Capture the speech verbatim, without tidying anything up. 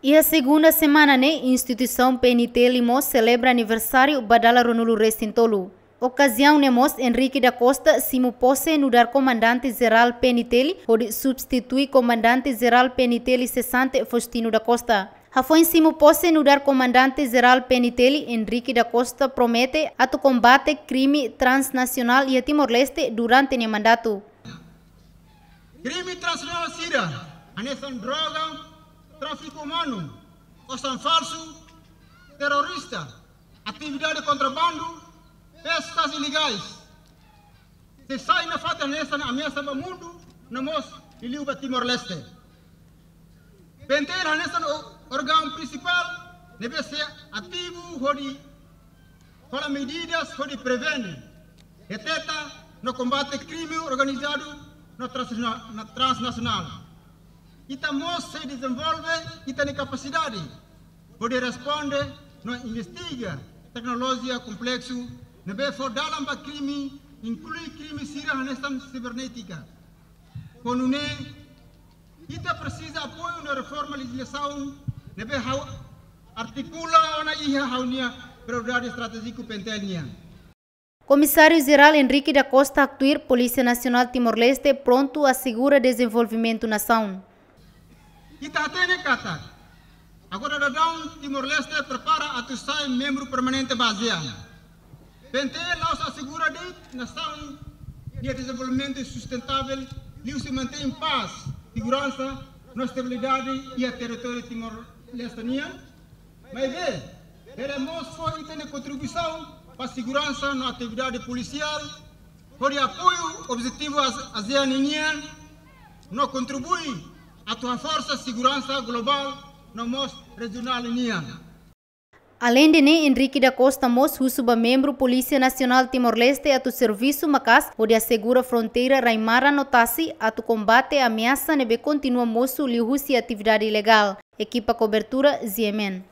Iha segunda semana ne'e, instituisaun P N T L mós selebra aniversáriu ba dala ruanulu resin tolu. Okaziaun ne'e mós Henrique da Costa simu pose nu'udar Komandante Jerál P N T L, hodi substitui Komandante Jerál P N T L sesante Faustino da Costa. Hafoin simu pose nu'udar Komandante Jerál P N T L, Henrique da Costa promete atu kombate krime transnasionál iha Timor-Leste durante nia mandatu. Krime transnasionál sira, hanesan droga, tráfiku umanu, osan falsu, terrorista, atividade kontrabandu, peskas ilegais, sei sai nafatin hanesan ameasa ba mundu, no mós liuliu ba Timor-Leste. P N T L hanesan ó-, órgaun prinsipál ne'ebé sei ativu hodi hola medidas hodi prevene, deteta no kombate krime organizadu no transna-, no transnasionál. Ita mós sei dezenvolve ita-nia kapasidade hodi responde no investiga teknolojia kompleksu ne'ebé fó dalan ba krime, inklui krime sira hanesan sibernétika. Ho nune'e, ita presiza apoiu no reforma lejizlasaun ne'ebé ha'u artikula ona iha ha'u-nia prioridade estratéjiku P N T L nian. Komisáriu Jerál Henrique da Costa haktuir Polísia Nasionál Timor-Leste prontu asegura dezenvolvimentu nasaun. Ita hatene katak agora daudaun Timor-Leste prepara atu sai membru permanente ba ASEAN. P N T L la'ós asegura de'it nasaun nia dezenvolvimentu sustentável liuhusi mantein pás, seguransa no estabilidade iha territóriu Timor-Leste nian. Maibé, bele mós fó ita-nia kontribuisaun ba seguransa no atividade polisiál, hodi apoiu objetivu AS-, ASEAN nian, no kontribui atu haforsa seguransa globál no mós rejionál nian. Aleinde ne'e, Henrique da Costa mós husu ba membru Polísia Nasionál Timor-Leste atu servisu maka'as hodi asegura fronteira rai-maran no tasi atu kombate ameasa ne'ebé kontinua mosu liuhusi atividade ilegál. Ekipa kobertura, G M N.